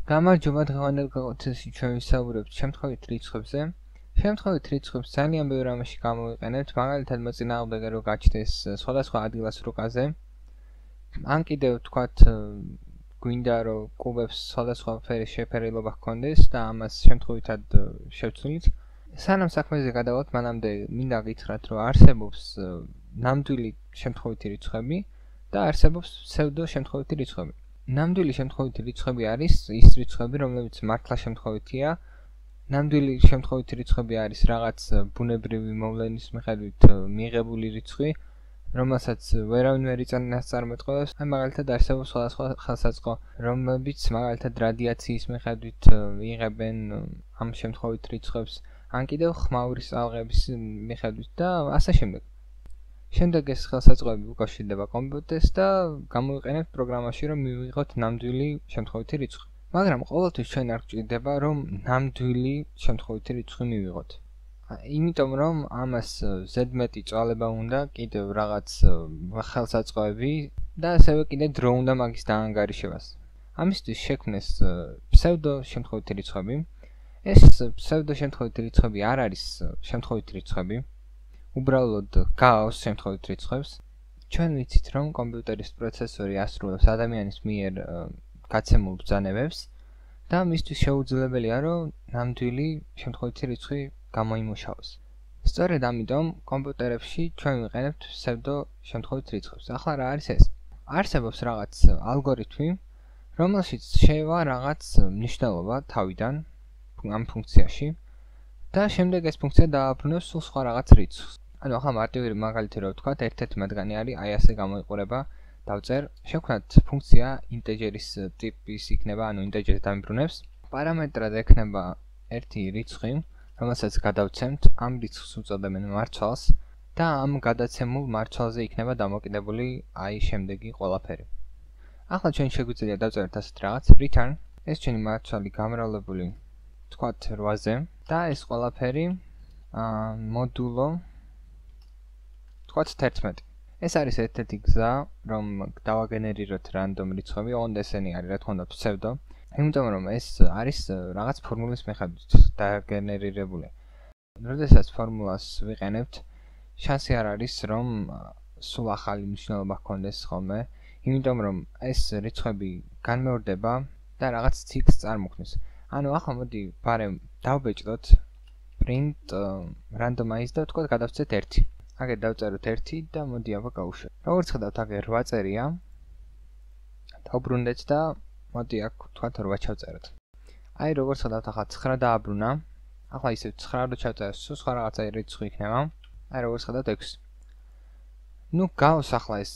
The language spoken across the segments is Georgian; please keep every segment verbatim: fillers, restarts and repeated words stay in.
გამარჯობა, დღევანდელ გაკვეთილში ჩვენ ვისაუბრებთ შემთხვევით რიცხვებზე. შემთხვევით რიცხვებს ძალიან ბევრ რამეში გამოვიყენებთ, მაგალითად მოწინააღმდეგე რო გაჩნდეს სხვადასხვა ადგილას რუკაზე. ან კიდევ თქვათ გვინდა რომ კუბებს სხვადასხვა ფერის შეფერილობა ჰქონდეს და ამას შემთხვევითად შევცვლით. სანამ საქმეზე გადავალთ, მანამდე მინდა გითხრათ, რომ არსებობს ნამდვილი შემთხვევითი რიცხვები და არსებობს ფსევდო შემთხვევითი რიცხვები. ნამდვილი შემთხვევითი რიცხვები არის ის რიცხვები, რომლებიც მართლა შემთხვევითია. ნამდვილი შემთხვევითი რიცხვები არის რაღაც ბუნებრივი მოვლენის მიხედვით მიღებული რიცხვი, რომელსაც ვერავინ ვერ იწონას წარმოთქმას. აი მაგალითად არსებობს სხვადასხვა ხელსაწყო, რომლებიც მაგალითად რადიაციის მიხედვით იღებენ ამ შემთხვევით რიცხვებს, ან კიდევ ხმაურის ალღების მიხედვით და ასე შემდეგ. შემდეგ ეს ხელსაწყოები უკავშირდება კომპიუტერს და გამოვიყენებთ პროგრამაში, რომ მივიღოთ ნამდვილი შემთხვევითი რიცხვი. მაგრამ ყოველთვის ჩვენ არ გვჭირდება, რომ ნამდვილი შემთხვევითი რიცხვი მივიღოთ. იმიტომ რომ ამას ზედმეტი წვალება უნდა, კიდევ რაღაც ხელსაწყოები და ასევე კიდევ დრო უნდა მაგის დაანგარიშებას. ამისთვის შექმნეს ფსევდო შემთხვევითი რიცხვები. ეს ფსევდო შემთხვევითი რიცხვები არ არის შემთხვევითი რიცხვები. უბრალოდ გააოს შემთხვევით რიცხვებს. ჩვენ ვიცით, რომ კომპიუტერის პროცესორი ასრულებს ადამიანის მიერ გაცემულ ბრძანებებს და მისთვის შეუძლებელია, რომ ნამდვილი შემთხვევითი რიცხვი გამოიმუშაოს. სწორედ ამიტომ კომპიუტერებში ჩვენ ვიყენებთ ფსევდო შემთხვევით რიცხვებს. ახლა რა არის ეს? არსებობს რაღაც ალგორითმი, რომელშიც შევა რაღაც მნიშვნელობა თავიდან ამ ფუნქციაში და შემდეგ ეს ფუნქცია დააბრუნებს სულ სხვა რაღაც რიცხვს. ანუ ახლა მარტივი მაგალითი რო ვთქვათ, ერთ-ერთი მათგანი არის აი ასე გამოიყურება, დავწერ, შევქმნათ ფუნქცია ინტეჯერის ტიპის იქნება, ანუ ინტეჯერს დამიბრუნებს. პარამეტრად ექნება ერთი რიცხვი, რომელსაც გადავცემთ, ამ რიცხვს უწოდებენ მარცვალს და ამ გადაცემულ მარცვალზე იქნება დამოკიდებული აი შემდეგი ყველაფერი. ახლა ჩვენ შეგვიძლია დავწეროთ ასეთ რაღაც return, ეს ჩვენი მარცვალი გამრავლებული თქვათ რვაზე და ეს ყველაფერი მოდულო თქვათ თერთმეტი. ეს არის ერთ-ერთი გზა, რომ დავაგენერიროთ რანდომ რიცხვები, ოღონდ ესენი არის, რა თქმა უნდა, ფსევდო. იმიტომ რომ ეს არის რაღაც ფორმულის მიხედვით დაგენერირებული. როდესაც ფორმულას ვიყენებთ, შანსი არ არის, რომ სულ ახალი მნიშვნელობა ჰქონდეს ხოლმე, იმიტომ რომ ეს რიცხვები განმეორდება და რაღაც ციკლს წარმოქმნის. ანუ ახლა მოდი ბარემ დავბეჭდოთ print randomize და თქვა გადავცეთ ერთი. აგერ დავწეროთ ერთი და მოდი აბა გავუშვათ. როგორც ხედავთ, აგერ რვა წერია. დავბრუნდეთ და მოდი აქ თქვათ რვა ჩავწეროთ. აი როგორც ხედავთ, ახლა ცხრა დააბრუნა. ახლა ისევ ცხრა რო ჩავწეროთ, სულ სხვა რაღაცა რიცხვი იქნება. აი როგორც ხედავთ ექვსი. ნუ გავს ახლა ეს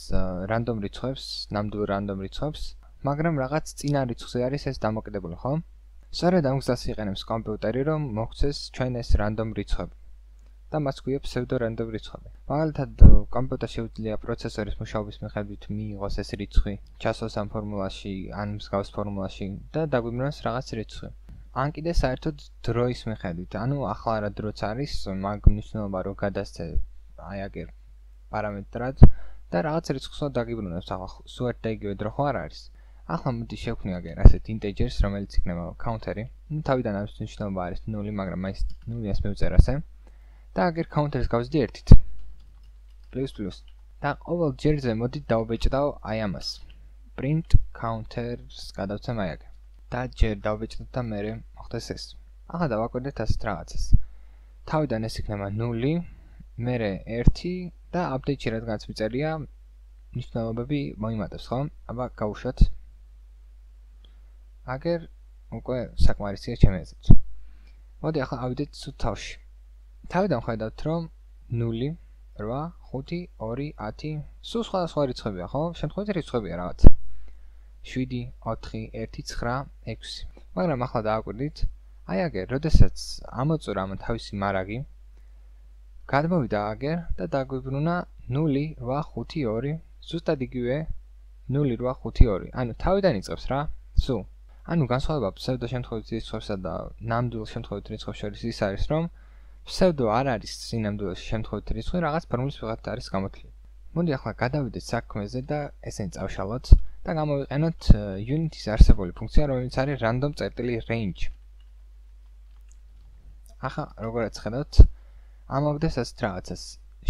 random რიცხვებს, ნამდვილ random რიცხვებს, მაგრამ რაღაც წინა რიცხვზე არის ეს დამოკიდებული, ხო? სწორედ ამ გზას იყენებს კომპიუტერი, რომ მოგვცეს ჩვენ ეს random რიცხვები. და მას გვია pseudo random რიცხვები. მაგალითად, კომპიუტერს შეუძლია პროცესორის მუშაობის მიხედვით მიიღოს ეს რიცხვი, ჩასვას ამ ფორმულაში, ან მსგავს ფორმულაში და დაგვიბრუნოს რაღაც რიცხვი. ან კიდე საერთოდ დროის მიხედვით. ანუ ახლა რა დროც არის, მაგ მნიშვნელობა რო გადასცე აი აგერ პარამეტრად და რაღაც რიცხვს დაგიბრუნებს. ახლა სულ ერთ და იგივე დრო ხო არ არის. ახლა მოდი შევქმნი აგერ ასეთ ინტეჯერს, რომელიც იქნება counter-ი. ნუ თავიდან არის მნიშვნელობა არის ნული, მაგრამ მაინც ნულიას მივწერ ასე. და აგერ counter-ს გავზდი ერთით. plus plus. და ყოველ ჯერზე მოდი დავბეჭდავ აი ამას. print counter-ს გადავცემ აი აგერ. და ჯერ დავბეჭდოთ და მერე მოხდეს ეს. ახლა დავაკვირდეთ ასეთ რაღაცას. თავიდან ეს იქნება ნული, მერე ერთი და update-ში რადგანაც მიწერია, მნიშვნელობები მოიმატებს, ხო? აბა გავუშვათ. აგერ უკვე საკმარისია ჩემი აზრით. მოდი ახლა ავიდეთ სულ თავში. თავიდან ხედავთ, რომ ნული, რვა, ხუთი, ორი, ათი, სულ სხვადასხვა რიცხვებია, ხო? შემთხვევით რიცხვებია რაღაც. შვიდი, ოთხი, ერთი, ცხრა, ექვსი. მაგრამ ახლა დააკვირდით, აი აგერ, როდესაც ამოწურა ამ თავისი მარაგი, გადმოვიდა აგერ და დაგვიბრუნა ნული, რვა, ხუთი, ორი, ზუსტად იგივე ნული, რვა, ხუთი, ორი. ანუ თავიდან იწყებს რა? სულ. ანუ განსხვავება ფსევდო შემთხვევით რიცხვებსა და ნამდვილ შემთხვევით რიცხვებს შორის ის არის, რომ ფსევდო არ არის სინამდვილეში შემთხვევით რიცხვი, რაღაც ფორმულის მიხედვით არის გამოთვლილი. მოდი ახლა გადავიდეთ საქმეზე და ესენი წავშალოთ და გამოვიყენოთ unit-ის არსებული ფუნქცია, რომელიც არის random წერტილი range. ახლა როგორაც ხედავთ, ამავდროულად ასეთ რაღაცას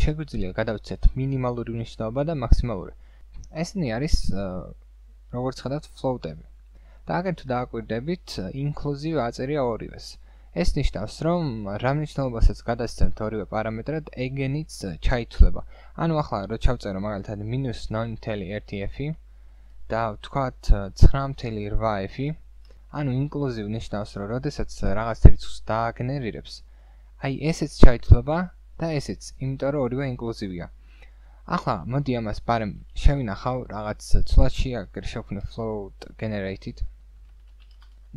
შეგვიძლია გადავცეთ მინიმალური მნიშვნელობა და მაქსიმალური. ესენი არის როგორც ხედავთ float-ები. და აგერ თუ დააკვირდებით, inclusive აწერია ორივეს. ეს ნიშნავს, რომ რა მნიშვნელობასაც გადასცემთ ორივე პარამეტრად, ეგენიც ჩაითვლება. ანუ ახლა რო ჩავწერო მაგალითად minus nine point one f და ვთქვათ nine point eight f, ანუ inclusive ნიშნავს, რომ როდესაც რაღაც რიცხვს დააგენერირებს, აი ესეც ჩაითვლება და ესეც, იმიტომ რომ ორივე inclusive-ია. ახლა მოდი ამას ბარემ შევინახავ რაღაც ცვლადში, აგერ შევქმნი float generated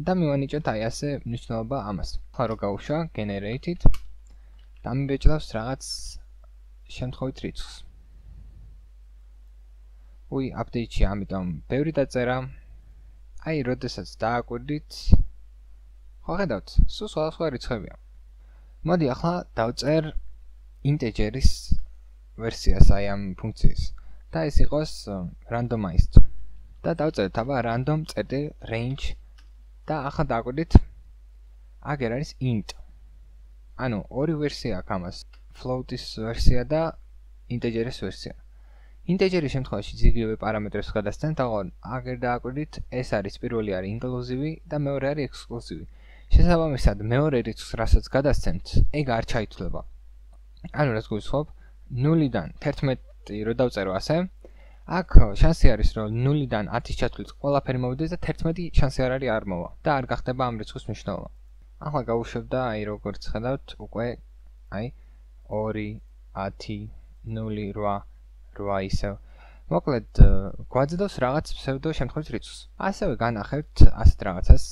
და მივანიჭოთ აი ასე მნიშვნელობა ამას. ახლა რო გავუშვა generated და მიბეჭდავს რაღაც შემთხვევით რიცხვს. უი, update-ში ამიტომ ბევრი დაწერა. აი, როდესაც დააკვირდით, ხო ხედავთ, სულ სხვადასხვა რიცხვებია. მოდი ახლა დავწერ integer-ის ვერსიას აი ამ ფუნქციის და ეს იყოს randomized. და დავწერთ აბა random წერტილი range და ახლა დააკვირდით, აგერ არის int. ანუ ორი ვერსია აქვს ამას, float-ის ვერსია და integer-ის ვერსია. Integer-ის შემთხვევაში იგივე პარამეტრებს გადასცემთ, თაღონ აგერ დააკვირდით, ეს არის პირველი არის inclusive და მეორე არის exclusive. შესაბამისად, მეორე რიცხვს რასაც გადასცემთ, ეგ არ ჩაითვლება. ანუ რაც გულისხმობ, ნულიდან თერთმეტი რო დავწერო ასე, აქ შანსი არის, რომ ნულიდან ათის ჩათვლით ყველაფერი მოვიდეს და თერთმეტი შანსი არ არის არ მოვა და არ გახდება ამ რიცხვის მნიშვნელობა. ახლა გავუშვებ და აი როგორც ხედავთ, უკვე აი ორი, ათი, ნული, რვა, რვა ისევ. მოკლედ გვაძლევს რაღაც pseudo შემთხვევით რიცხვს. ასევე განახევთ ასეთ რაღაცას.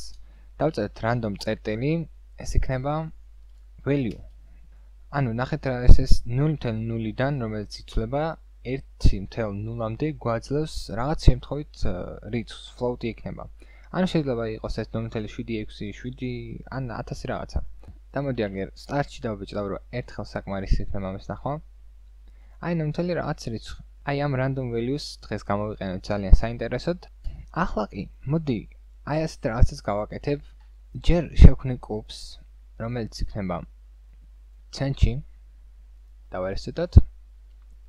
დავწერთ random წერტილი, ეს იქნება value. ანუ ნახეთ რა ეს ეს ნული null ნულიდან, რომელიც იცვლება ერთი ნულამდე გვაძლევს რაღაც შემთხვევით რიცხვს, float-ი იქნება. ანუ შეიძლება იყოს ეს ნული შვიდი ექვსი, შვიდი ან ათასი რაღაცა. და მოდი აგერ start-ში დავბეჭდავ, რომ ერთხელ საკმარისი იქნება ამის ნახვა. აი ნული რაღაც რიცხვი. აი ამ random values დღეს გამოვიყენოთ ძალიან საინტერესოდ. ახლა კი, მოდი აი ასეთ რაღაცას გავაკეთებ. ჯერ შევქმნი კუბს, რომელიც იქნება ცენტრში. დავარესტოთ.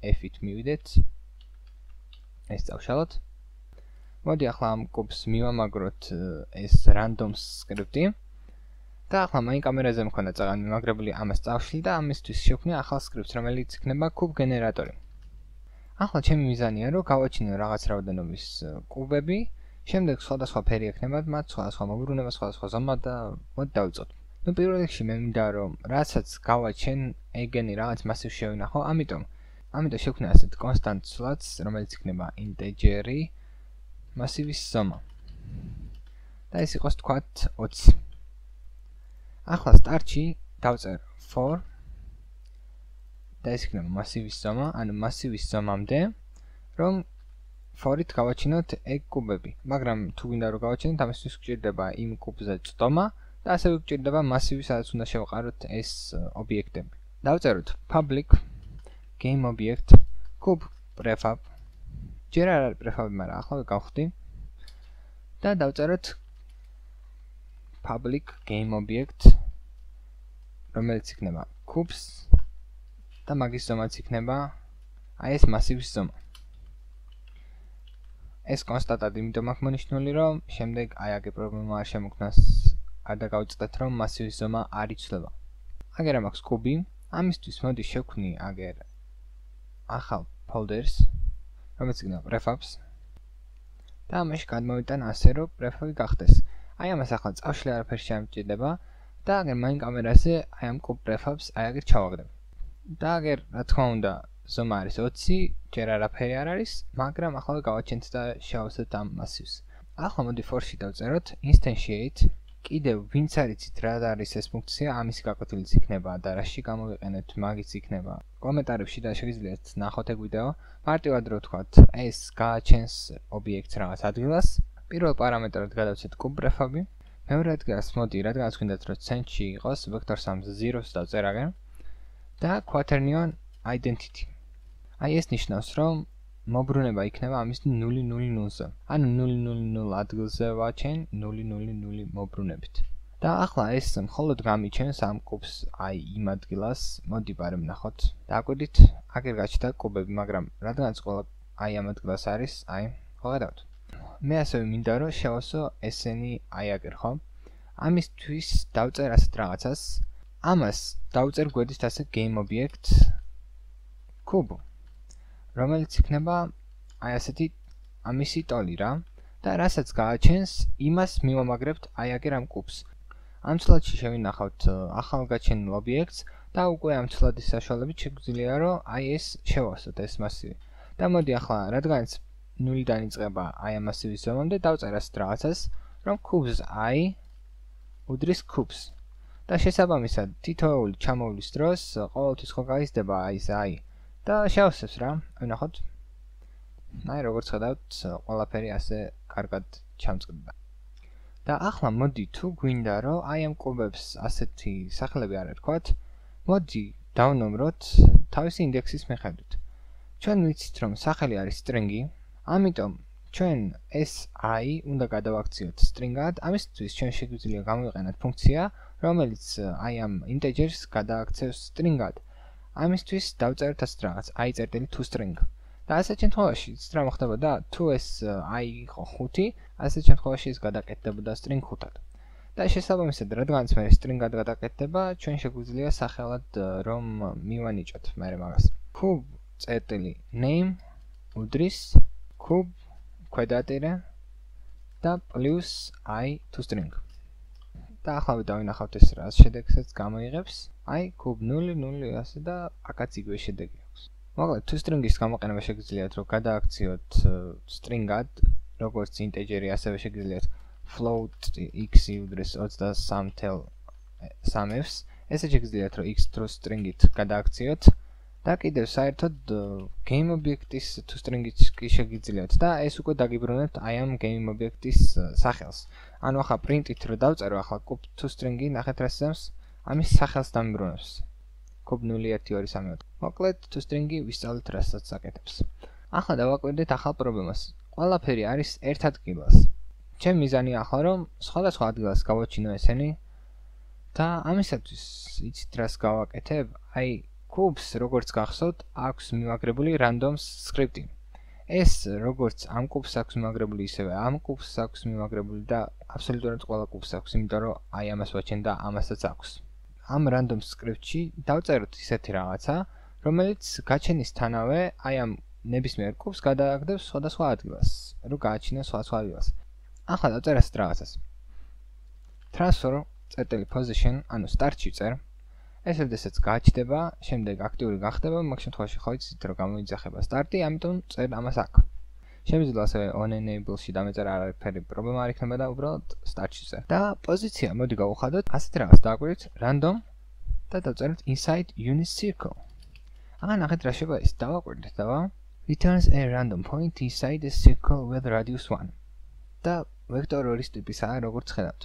F-ით მივიდეთ. ეს დავშალოთ. მოდი ახლა ამ კუბს მივამაგროთ ეს random script-ი. და ახლა მაინ კამერაზე მქონდა წაღანი მიმაგრებული, ამას წავშლი და ამისთვის შევქმნი ახალ script-ს, რომელიც იქნება კუბ გენერატორი. ახლა ჩემი მიზანია, რომ გავაჩინო რაღაც რაოდენობის კუბები, შემდეგ სხვადასხვა ფერი ექნებათ მათ, სხვადასხვა მოგრუნება, სხვადასხვა ზომა და მოდი დავიწყოთ. ნუ პირველ რიგში მე მინდა რომ რასაც გავაჩენ, ეგენი რაღაც მასივს შევინახო, ამიტომ ამიტომ შევქმნი ასეთ constant სვლადს, რომელიც იქნება integer-ი მასივის ზომა. და ეს იყოს თქვათ ოცი. ახლა start-ში დავწერ for და ეს იქნება მასივის ზომა, ანუ მასივის ზომამდე, რომ for-ით გავაჩინოთ ეგ კუბები. მაგრამ თუ გინდა რომ გავაჩინოთ, ამისთვის გვჭირდება იმ კუბზე წტომა და ასევე გვჭირდება მასივი, სადაც უნდა შევყაროთ ეს ობიექტები. დავწეროთ public game object cube prefab. ჯერ არ არის prefab, მაგრამ ახლა გავხდი. და დავწეროთ public game object, რომელიც იქნება cubes და მაგის ზომაც იქნება აი ეს მასივის ზომა. ეს კონსტანტად იმიტომ აქვს მონიშნული, რომ შემდეგ აი აგე პრობლემა არ შემოქმნას, არ დაგავიწყდეთ, რომ მასივის ზომა არ იცვლება. აგერ მაქვს კუბი, ამისთვის მოდი შევქმნი აგერ ახალ folders, რომელიც იქნება prefabs და ამაში გადმოვიტან ასე, რომ prefab-ი გახდეს. აი ამას ახლა წავშლი არაფერი შემჭირდება და აგერ მაინ კამერაზე აი ამ კუბ prefabs აი აგერ ჩავაგდებ. და აგერ რა თქმა უნდა ზომა არის ოცი, ჯერ არაფერი არ არის, მაგრამ ახლა გავაჩენთ და შევავსებთ ამ მასივს. ახლა მოდი for-ში დავწეროთ instantiate. კიდევ ვინც არიცით რა არის ეს ფუნქცია, ამის გაკვეთილიც იქნება და რაში გამოვიყენებთ, მაგიც იქნება კომენტარებში და შეგიძლიათ ნახოთ ეგ ვიდეო. მარტივად რო ვთქვათ, ეს გააჩენს ობიექტს რაღაც ადგილას. პირველ პარამეტრად გადავცეთ კუბ prefab-ი. მეორე ადგილას მოდი, რადგანაც გვინდათ რომ centrში იყოს, vector sums zero-ს დავწერაგენ და quaternion identity. აი ეს ნიშნავს, რომ მოbrunება იქნება ამის ნული ნული ნულზე. ანუ ნული ნული ნულ ადგილზე ვაჩენ ნული ნული ნული მოbrunებით. და ახლა ეს მხოლოდ გამიჩენს ამ კუბს აი იმ ადგილას. მოდი ბარემ ნახოთ. დააკვირდით, აგერ გაჩნდა კუბები, მაგრამ რადგანაც ყველა აი ამ ადგილას არის, აი, ხედავთ. მე ასევე მინდა რომ შევასო ესენი აი აგერ, ხო? ამისთვის დავწერ ასეთ რაღაცას. ამას დავწერ გვერდით ასე game object cube, რომელიც იქნება აი ასეთი ამისი ტოლი რა და რასაც გააჩენს, იმას მივამაგრებთ აი აგერ ამ კუბს. ამ ცვლადში შევინახავთ ახალგაჩენილ ობიექტს და უკვე ამ ცვლადის საშუალებით შეგვიძლია რომ აი ეს შევასოთ ეს მასივი. და მოდი ახლა რადგანაც ნულიდან იწყება აი ამ მასივის ზომამდე დავწერ ასეთ რაღაცას, რომ cubes i უდრის cubes. და შესაბამისად თითოეული ჩამოვლის დროს ყოველთვის ხო გაიზრდება აი ეს i და შევასებს რა. ვნახოთ. აი როგორც ხედავთ, ყველაფერი ასე კარგად ჩამწყდება. და ახლა მოდი თუ გვინდა რომ აი ამ კუბებს ასეთი სახელები არ ერქვათ, მოდი დავნომროთ თავისი ინდექსის მიხედვით. ჩვენ ვიცით რომ სახელი არის string-ი, ამიტომ ჩვენ ეს i უნდა გადავაქციოთ string-ად, ამისთვის ჩვენ შეგვიძლია გამოვიყენოთ ფუნქცია, რომელიც აი ამ integer-ს გადააქცევს string-ად. ამისთვის დავწერთ ასეთ რაღაც i.toString. და ასეთ შემთხვევაში იცით რა მოხდებოდა? თუ ეს i იყო ხუთი, ასეთ შემთხვევაში ეს გადაკეთდებოდა string ხუთად. და შესაბამისად, რადგანაც მე string-ად გადაკეთდება, ჩვენ შეგვიძლია სახელად რომ მივანიჭოთ მე მაგას. cube.name უდრის cube ქვედატირე და plus i.toString. და ახლა დავინახავთ ეს რა შედეგსაც გამოიღებს. აი cube ნული ნული ასე და აქაც იგივე შედეგი აქვს. მოკლედ toString-ის გამოყენება შეგიძლიათ რომ გადააქციოთ string-ად, როგორც integer-ი, ასევე შეგიძლიათ float x უდრის ოცდასამს. ესე შეგიძლიათ რომ x toString-ით გადააქციოთ და კიდევ საერთოდ game object-ის toString-ით კი შეგიძლიათ და ეს უკვე დაგიბრუნებთ აი ამ game object-ის სახელს. ანუ ახლა print-ით რომ დავწერო ახლა cube toString-ი, ნახეთ რა სიზამს, ამის სახელს დამიბრუნებს. cube ნული ერთი ორი სამი ოთხი. მოკლედ toString-ი ვისწავლეთ რასაც აკეთებს. ახლა დავაკვირდეთ ახალ პრობლემას. ყველაფერი არის ერთ ადგილას. ჩემი მიზანია ახლა რომ სხვადასხვა ადგილას გავაჩინო ესენი და ამისათვის იცით რას გავაკეთებ? აი cubes როგორც გახსოვთ, აქვს მივაგრებული random script-ი. ეს როგორც ამ cubes აქვს მივაგრებული, ისევე ამ cubes აქვს მივაგრებული და აბსოლუტურად ყველა cubes აქვს, იმიტომ რომ აი ამას ვაჩენ და ამასაც აქვს. ამ random script-ში დავწეროთ ისეთი რაღაცა, რომელიც გაჩენისთანავე აი ამ ნებისმიერ cubes გადააგდებს სხვადასხვა ადგილას, რომ გააჩინოს სხვადასხვა ადგილას. ახლა დავწერ ასეთ რაღაცას. transfer.position, ანუ start-ში წერ. ეს როდესაც გაჩნდება, შემდეგ აქტიური გახდება, მაგ შემთხვევაში ხო იცით რომ გამოიძახება start-ი, ამიტომ წერ ამას აქ. შემიძლია ასევე on enable-ში დამეწერა არაფერი პრობლემა არ იქნება და უბრალოდ start-ში წერ. და პოზიცია მოდი გავუხადოთ ასეთ რაღაც დააკვირდით random და დავწეროთ inside unit circle. ახლა ნახეთ რა შევა ის. დავაკვირდით და returns a random point inside a circle with radius one. და vector ორის ტიპისაა როგორც ხედავთ.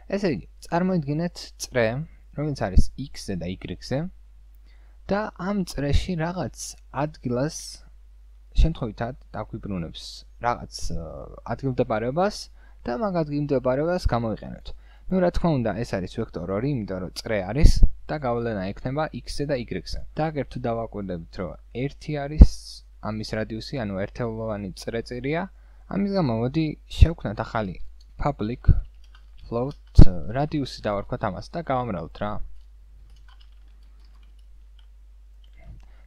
ესე იგი, წარმოიდგინეთ წრე რომელიც არის x-ზე და y-ზე და ამ წრეში რაღაც ადგილას შემთხვევითად დაგვიბრუნებს რაღაც ადგილმდებარეობას და მაგ ადგილმდებარეობას გამოვიყენოთ. ნუ რა თქმა უნდა, ეს არის vector ორი, იმიტომ რომ წრე არის და გავლენა ექნება x-ზე და y-ზე. და აგერ თუ დავაკვირდებით, რომ ერთი არის ამის რადიუსი, ანუ ერთეულოვანი წრეწირია, ამის გამო მოდი შევქმნათ ახალი public float radius-ი დავარქვათ ამას და გავამრავლოთ რა.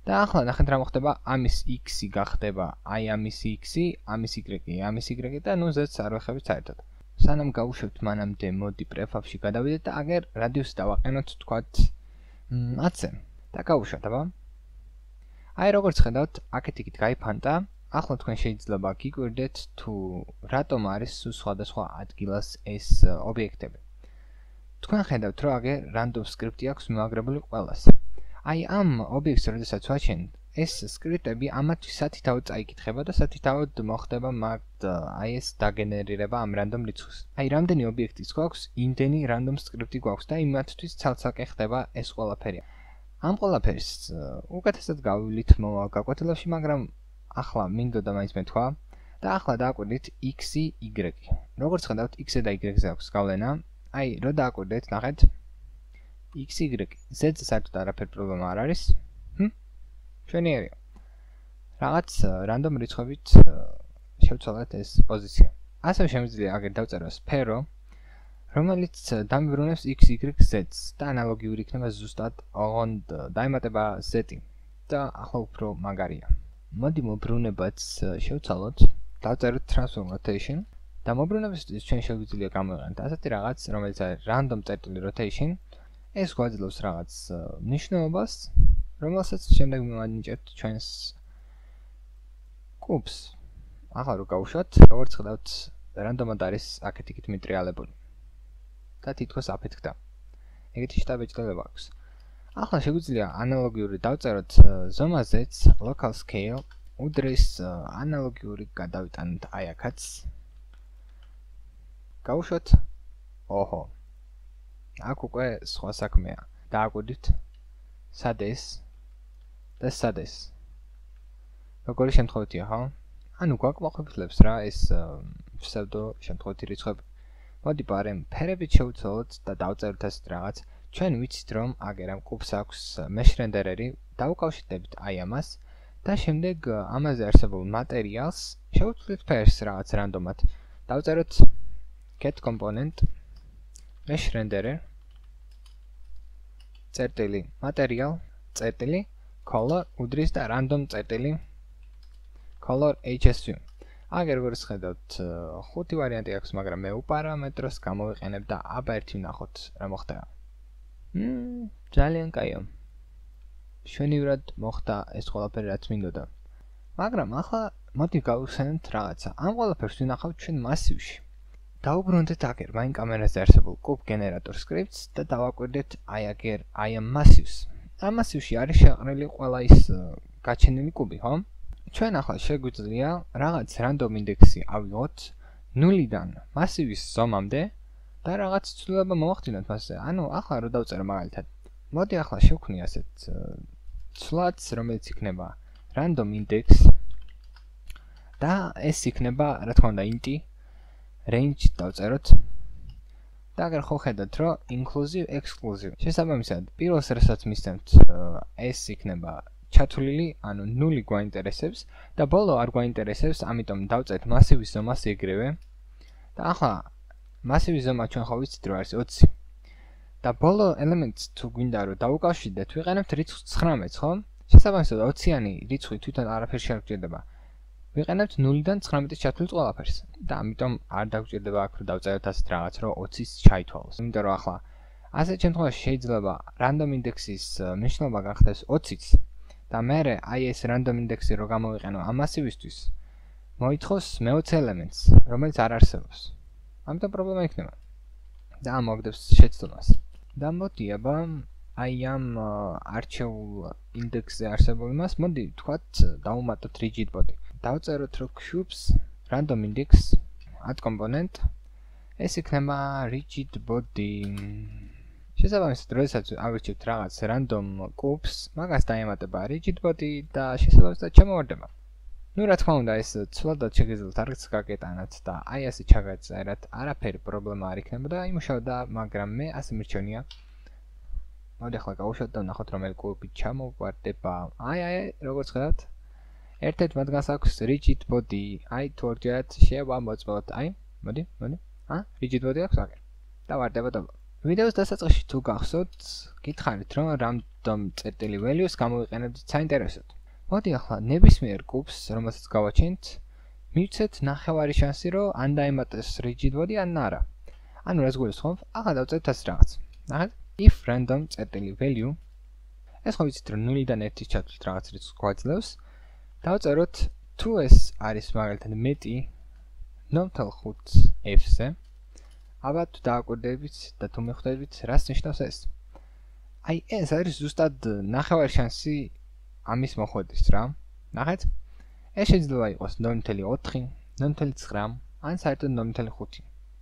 და ახლა ნახეთ რა მოხდება, ამის x-ი გახდება აი ამის x-ი, ამის y-ი, ამის y-ი და ნუ ზედს არ ვეხებით საერთოდ. სანამ გავუშვებთ მანამდე მოდი prefab-ში გადავიდეთ და აგერ radius-ი დავაყენოთ თქვათ ათზე და გავუშვათ, აბა. აი როგორც ხედავთ, აქეთ იქით გაიფანტა. ახლა თქვენ შეიძლება გიკვირდეთ თუ რატომ არის სხვადასხვა ადგილას ეს ობიექტები. თქვენ ხედავთ რომ აგერ random script-ი აქვს მივაგრებული ყველას. აი ამ ობიექტს როდესაც ვაჩენთ, ეს სკრიპტები ამათთვის სათითაოდ წაიკითხება და სათითაოდ მოხდება მაგ აი ეს დაგენერირება ამ random რიცხვის. აი რამდენი ობიექტის გვაქვს, იმდენი random script-ი გვაქვს და იმათთვის ცალ-ცალკე ხდება ეს ყველაფერი. ამ ყველაფერს უკეთესად გავივლით მომავალ გაკვეთილებში, მაგრამ ახლა მინდოდა მაინც მეთქვა და ახლა დააკვირდით x-ი, y-ი. როგორც ხედავთ, x-ზე და y-ზე აქვს გავლენა. აი, რო დააკვირდეთ, ნახეთ. x, y, z-ზე საერთოდ არაფერი პრობლემა არ არის. ჰმ? ჩვენიერია. რაღაც რანდომ რიცხვებით შევცვალეთ ეს პოზიცია. ასევე შემიძლია აგერ დავწერო სფერო, რომელიც დამიბრუნებს x, y, z-ს და ანალოგიური იქნება ზუსტად ოღონდ დაემატება z-ი და ახლა უფრო მაგარია. მოდი მობრუნებაც შევცვალოთ, დავწეროთ transform rotation და მობრუნებისთვის ჩვენ შეგვიძლია გამოვიყენოთ ასეთი რაღაც, რომელიც არის random წერტილი rotation. ეს გვაძლევს რაღაც მნიშვნელობას, რომელსაც შემდეგ მივანიჭებთ ჩვენს კუბს. ახლა რო გავუშვათ, როგორც ხედავთ, რანდომად არის აქეთ-იქით მიტრიალებული. და თითქოს აფეთქდა. ეგეთი შტაბეჭდილება აქვს. ახლა შეგვიძლია ანალოგიური დავწეროთ ზომაზეც local scale, უდრის ანალოგიური გადავიტანოთ აი აქაც. გავუშვათ. ოჰო. აქ უკვე სხვა საქმეა. დააკვირდით. სად ეს? და სად ეს? როგორი შემთხვევებია, ხო? ანუ გვაკმაყოფილებს რა ეს ფსევდო შემთხვევითი რიცხვები. მოდი პარემ ფერებით შევცვალოთ და დავწეროთ ასეთ რაღაც. ჩვენ ვიცით რომ აგერ ამ კუბს აქვს mesh renderer-ი, დავუკავშირდებით აი ამას და შემდეგ ამაზე არსებულ მატერიალს შევცვლით ფერს რაღაც რანდომად. დავწეროთ get component mesh renderer წერტილი material წერტილი color უდრის და random წერტილი color hsu. აგერ როგორც ხედავთ, ხუთი ვარიანტი აქვს, მაგრამ მე უპარამეტროს გამოვიყენებ და აბა ერთი ვნახოთ რა მოხდება. მმ, ძალიან კაიო. შვენივრად მოხდა ეს ყველაფერი რაც მინდოდა. მაგრამ ახლა მოდი გავხსენოთ რაღაცა. ამ ყველაფერს ვნახავთ ჩვენ მასივში. დავუბრუნდეთ აგერ მაინ კამერაზე არსებულ კუბ გენერატორ სკრიპტს და დავაკვირდეთ აი აგერ აი ამ მასივს. ამ მასივში არის შეყრილი ყველა ის გაჩენილი კუბი, ხო? ჩვენ ახლა შეგვიძლია რაღაც random ინდექსი ავიღოთ ნულიდან მასივის ზომამდე და რაღაც ცვლილება მოვახდინოთ მასზე. ანუ ახლა რო დავწერო მაგალითად. მოდი ახლა შევქმნი ასეთ ცვლადს, რომელიც იქნება random index და ეს იქნება, რა თქმა უნდა, int range დავწეროთ. და აგერ ხო ხედავთ, რომ inclusive exclusive. შესაბამისად, პირველს რასაც მისცემთ, ეს იქნება ჩათვლილი, ანუ ნული გვაინტერესებს და ბოლო არ გვაინტერესებს, ამიტომ დავწერთ მასივის ზომას ეგრევე. და ახლა მასივის ზომა ჩვენ ხო ვიცით რომ არის ოცი. და ბოლო ელემენტს თუ გვინდა რომ დავუკავშირდეთ, ვიყენებთ რიცხვს ცხრამეტს, ხო? შესაბამისად, ოციანი რიცხვი თვითონ არაფერს არ გვჭირდება. ვიყენებთ ნულიდან ცხრამეტის ჩათვლილ ყველაფერს. და ამიტომ არ დაგვჭირდება აქ რომ დავწეროთ ასეთ რაღაც, რომ ოცის ჩაითვალოს. იმიტომ რომ ახლა ასეთ შემთხვევაში შეიძლება random index-ის მნიშვნელობა გახდეს ოციც. და მერე აი ეს random index-ი რო გამოვიყენო ამ მასივისთვის, მოითხოვს მეოცე ელემენტს, რომელიც არ არსებობს. ამიტომ პრობლემა იქნება. და ამოაგდებს შეცდომას. და მოდი აბა აი ამ არჩეულ ინდექსზე არსებულ იმას, მოდი ვთქვათ, დავუმატოთ rigid body. დავწეროთ რომ cubes random index add component ეს იქნება rigid body. შესაბამისად, როდესაც ავირჩევთ რაღაც random cubes, მაგას დაემატება rigid body და შესაბამისად ჩამოვარდება. ნუ რა თქმა უნდა, ეს ცვლადად შეგეძლოთ არც გაკეტანათ და აი ასე ჩაგაწერათ, არაფერი პრობლემა არ იქნება და იმუშავდა, მაგრამ მე ასე მირჩენია. მოდი ახლა გავუშვათ და ვნახოთ რომელი კუბი ჩამოვარდება. აი აი, როგორც ხედავთ, ერთ-ერთ მათგანს აქვს rigid body. აი თუ ორჯერად შევამოწმოთ. აი, მოდი, მოდი. ა, rigid body აქვს აგერ. და ვარდება და ვიდეოს დასაწყისში თუ გახსოვთ, გითხარით რომ random წერტილი values გამოვიყენებთ საინტერესოდ. მოდი ახლა ნებისმიერ კუბს, რომელსაც გავაჩენთ, მივცეთ ნახევარი შანსი, რომ ან დაემატეს rigid body, ან არა. ანუ რას გულისხმობ? ახლა დავწერთ ასე რაღაც. ნახეთ, if random წერტილი value, ეს ხო ვიცით რომ ნულიდან ერთის ჩათვლით რაღაც რიცხვს გვაძლევს. დავწეროთ თუ ეს არის მაგალითად მეტი ნომთელ ხუთს f-ზე. აბა თუ დააკვირდებით და თუ მიხვდებით, რას ნიშნავს ეს? აი ეს არის ზუსტად ნახევარი შანსი ამის მოხვედრის რა. ნახეთ? ეს შეიძლება იყოს ნული ნული ოთხი, ნული ნული ცხრა, ან საერთოდ ნული ნული ხუთი,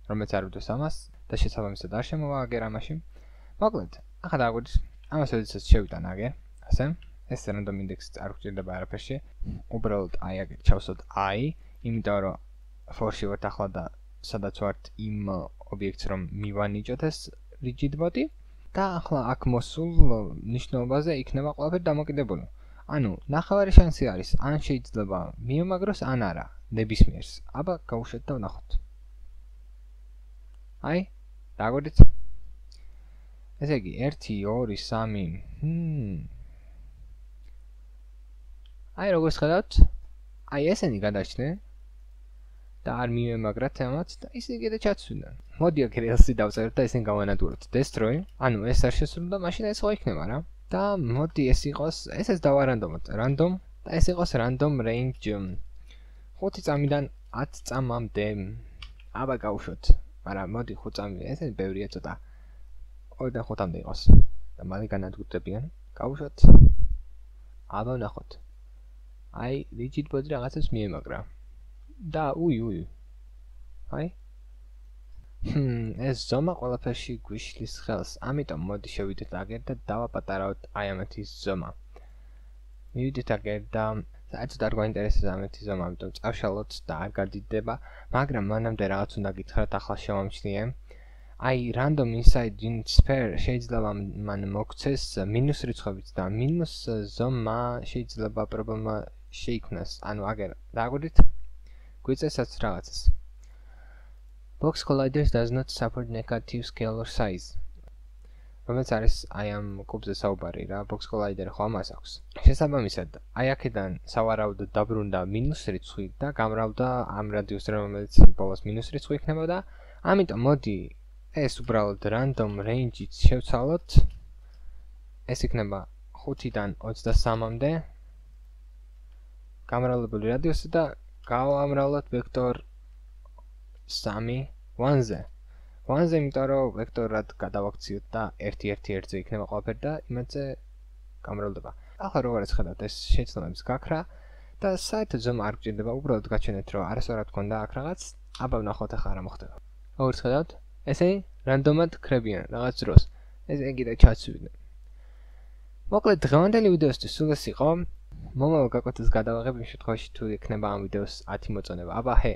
რომელიც არ უდრის ამას და შესაბამისად არ შემოვა აგერ ამაში. მოკლედ, ახლა დააკვირდით, ამას როდესაც შევიტან აგერ, ასე, ეს random index არ გვჭირდება არაფერში. უბრალოდ აი აქ ჩავსვათ i, იმიტომ რომ for-ში ვართ ახლა და სადაც ვართ იმ ობიექტს რომ მივანიჭოთ ეს rigid body და ახლა აქ მოსულ ნიშნულობაზე იქნება ყველაფერი დამოკიდებული. ანუ ნახევარი შანსი არის, ან შეიძლება მიემაგროს, ან არა, ნებისმიერს. აბა გავუშვათ და ვნახოთ. აი, დაგვერდით. ესე იგი ერთი, ორი, სამი. ჰმ. აი როგორც ხედავთ, აი ესენი გადაჩნდნენ და არ მიემაგრათ ამათ და ისინი კიდე ჩაცვიდნენ. მოდი აქ ელსი დავწეროთ და ისინი გავანადგუროთ. Destroy, ანუ ეს არ შესრულდა, მაშინ ეს ხო იქნება რა. და მოდი ეს იყოს, ესეც დავარანდომოთ. Random და ეს იყოს random range ხუთი წამიდან ათ წამამდე. აბა გავუშვოთ. მაგრამ მოდი ხუთ წამი, ესენი ბევრია ცოტა. ორიდან ხუთამდე იყოს. და მალე განადგურდებიან. გავუშვოთ. აბა ვნახოთ. აი, rigid body რაღაცებს მიემაგრა. და უი უი. აი. ჰმ, ეს ზომა ყველაფერში გვიშლის ხელს. ამიტომ მოდი შევიდეთ აგერ და დავაპატარავთ აი ამეთი ზომა. მივიდეთ აგერ და საერთოდ არ გვაინტერესებს ამეთი ზომა, ამიტომ წავშალოთ და არ გადიდება, მაგრამ მანამდე რაღაც უნდა გითხრათ, ახლა შევამჩნიე. აი, random inside unit sphere შეიძლება მან მოგცეს მინუს რიცხვებით და მინუს ზომა შეიძლება პრობლემა შეიქმნას. ანუ აგერ დააგვირდით გვიწესაც რაღაცას. Box colliders does not support negative scalar size. რომელიც არის აი ამ კუბზე საუბარი რა, box collider ხო ამას აქვს. შესაბამისად, აი აქედან სავარაუდოდ დაბრუნდა მინუს რიცხვი და გამრავლდა ამ რადიუსზე, რომელიც ბოლოს მინუს რიცხვი იქნებოდა. ამიტომ მოდი ეს უბრალოდ random range-ით შევცვალოთ. ეს იქნება ხუთიდან ოცდასამამდე. გამრავლებული რადიუსი და გავამრავლოთ ვექტორ სამი ზე. ზე იმიტომ რომ ვექტორად გადავაქციოთ და ერთი ერთი ერთზე იქნება ყველაფერი და იმედზე გამრავლდება. ახლა როგორც ხედავთ, ეს შეცდომებს გაქრა და საერთოდ ზომა არ გჭირდება, უბრალოდ გაჩვენეთ რომ არასდროს გქონდა აქ რაღაც. აბა ვნახოთ ახლა რა მოხდება. როგორც ხედავთ, ესე რანდომად ქრებიან რაღაც დროს. ეს ეგida ჩაცვიდნენ. მოკლედ დღევანდელი ვიდეოსთვის სულ ეს იყო. მომავალ გაკვეთილს გადავაღებ იმ შემთხვევაში თუ ექნება ამ ვიდეოს ათი მოწონება. აბა ჰე